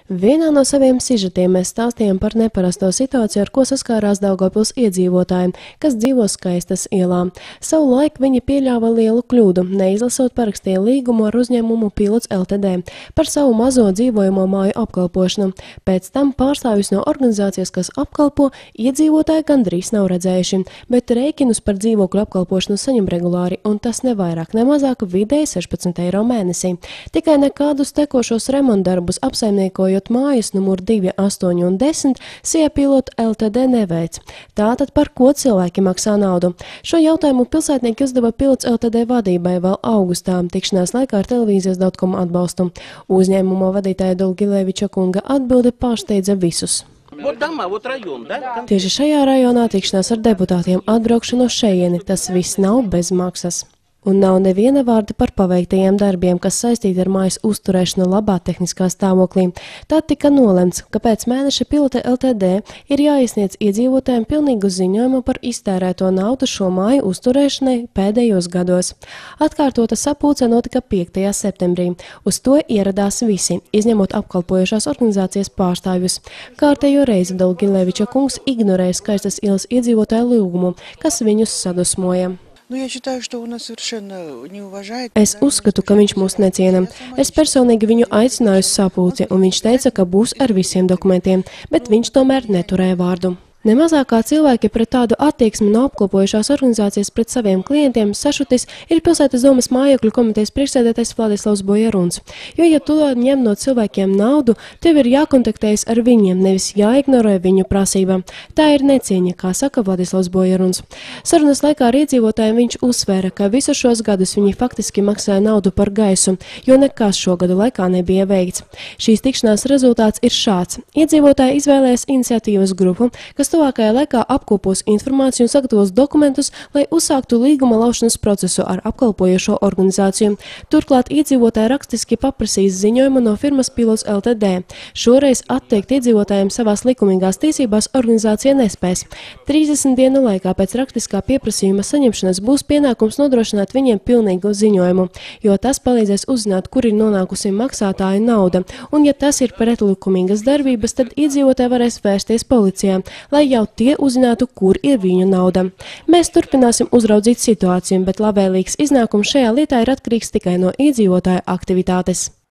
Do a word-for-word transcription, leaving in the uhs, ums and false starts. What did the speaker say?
Vienā no saviem sižetiem mēs stāstījām par neparasto situāciju, ar ko saskārās Daugavpils iedzīvotāji, kas dzīvo Skaistas ielā. Savulaik viņi pieļāva lielu kļūdu, neizlasot parakstīja līgumu ar uzņēmumu Pilots L T D par savu mazo dzīvojamo māju apkalpošanu. Pēc tam pārstāvjus no organizācijas, kas apkalpo, iedzīvotāji gandrīz nav redzējuši, bet rēķinus par dzīvokļu apkalpošanu saņem regulāri, un tas ne vairāk, ne mazāk vidēji sešpadsmit eiro mēnesī. Tikai nekādus tekošos remontdarbus apsaimniekojot mājas numur divi, astoņi un desmit Sija Pilota L T D neveic. Tātad par ko cilvēki maksā naudu? Šo jautājumu pilsētnieki uzdeva Pilots L T D vadībai vēl augustā, tikšanās laikā ar televīzijas dot com atbalstu. Uzņēmuma vadītāja Dolgileviča kunga atbilde pārsteidza visus. Tieši šajā rajonā tikšanās ar deputātiem atbraukšanu uz šejieni, tas viss nav bez maksas. Un nav neviena vārda par paveiktajiem darbiem, kas saistīti ar mājas uzturēšanu labā tehniskā stāvoklī. Tā tika nolemts, ka pēc mēneša Pilota L T D ir jāiesniedz iedzīvotājiem pilnīgu ziņojumu par iztērēto naudu šo māju uzturēšanai pēdējos gados. Atkārtota sapulce notika piektajā septembrī. Uz to ieradās visi, izņemot apkalpojošās organizācijas pārstāvjus. Kārtējo reizi Dolgileviča kungs ignorēja Skaistas ielas iedzīvotāju lūgumu, kas viņus sadusmoja. Es uzskatu, ka viņš mūs neciena. Es personīgi viņu aicināju uz sapulci, un viņš teica, ka būs ar visiem dokumentiem, bet viņš tomēr neturēja vārdu. Nemazākā cilvēki pret tādu attieksmi no apkalpojušās organizācijas pret saviem klientiem sašutis ir Pilsētas domas mājokļu komitejas priekšsēdētājs Vladislavs Bojaruns. Jo, ja tu ņem no cilvēkiem naudu, tev ir jākontaktējas ar viņiem, nevis jāignorē viņu prasība. Tā ir necieņa, kā saka Vladislavs Bojaruns. Sarunas laikā ar iedzīvotājiem viņš uzsvēra, ka visu šos gadus viņi faktiski maksāja naudu par gaisu, jo nekas šo gadu laikā nebija veikts. Šīs tikšanās rezultāts ir šāds. Iedzīvotāji izvēlējas iniciatīvas grupu, kas tuvākajā laikā apkopos informāciju un sagatavos dokumentus, lai uzsāktu līguma laušanas procesu ar apkalpojošo organizāciju. Turklāt iedzīvotāji rakstiski paprasīs ziņojumu no firmas Pilots L T D. Šoreiz atteikt iedzīvotājiem savās likumīgās tiesībās organizācija nespēs. trīsdesmit dienu laikā pēc rakstiskā pieprasījuma saņemšanas būs pienākums nodrošināt viņiem pilnīgu ziņojumu, jo tas palīdzēs uzzināt, kur ir nonākusi maksātāja nauda, un ja tas ir pretlikumīgas darbības, tad iedzīvotāji varēs vērsties policijā, lai jau tie uzzinātu, kur ir viņu nauda. Mēs turpināsim uzraudzīt situāciju, bet labvēlīgs iznākums šajā lietā ir atkarīgs tikai no iedzīvotāja aktivitātes.